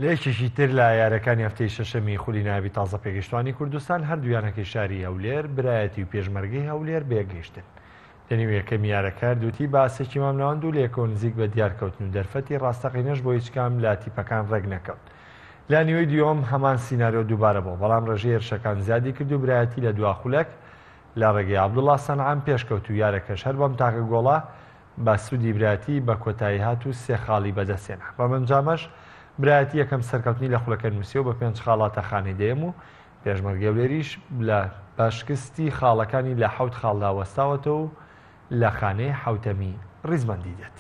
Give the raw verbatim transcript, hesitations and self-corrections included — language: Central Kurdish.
لە یەکێکی تر لە یارەکانی هەفتەی شەشەمی خولی نایابی تازە پێگەشتوانی کوردستان، هەردوو یانەکەی شاری هەولێر برایەتی و پێشمەرگەی هەولێر بەیەکگەیشتن. لە نێو یەکەم یارەکە هەردوو تیپ بە ئاستێکی مامناوەند و لەیەکەوە نزیک بە دیارکەوتن و دەرفەتی ڕاستەقینەش بۆ هیچ کام لە تیپەکان ڕێک نەکەوت. لە نیوەی دووەم هەمان سیناریۆ دووبارە بوو، بەڵام ڕێژەی هێرشەکان زیادی کرد و برایەتی لە دوا خولەک لە ڕێگەی عەبدوڵڵا سەنعان پێشکەوت و یارەکەش هەر بەم تاکە گۆڵە بە سوودی برایەتی بە کۆتایی هات و سێ خاڵی بەدەستهێنا. بەم ئەنجامەش برایەتی یەکەم سەرکەوتنی لە خولەکە نووسیەوە بە پێنج خاڵاتە خانەی دەیەم و پێشمەرگەی هەولێریش لە بە شکستی خاڵەکانی لە حەوت خاڵدا وەستاوەتەوە و لە خانەی حەوتەمی ڕیزبەندی دێت.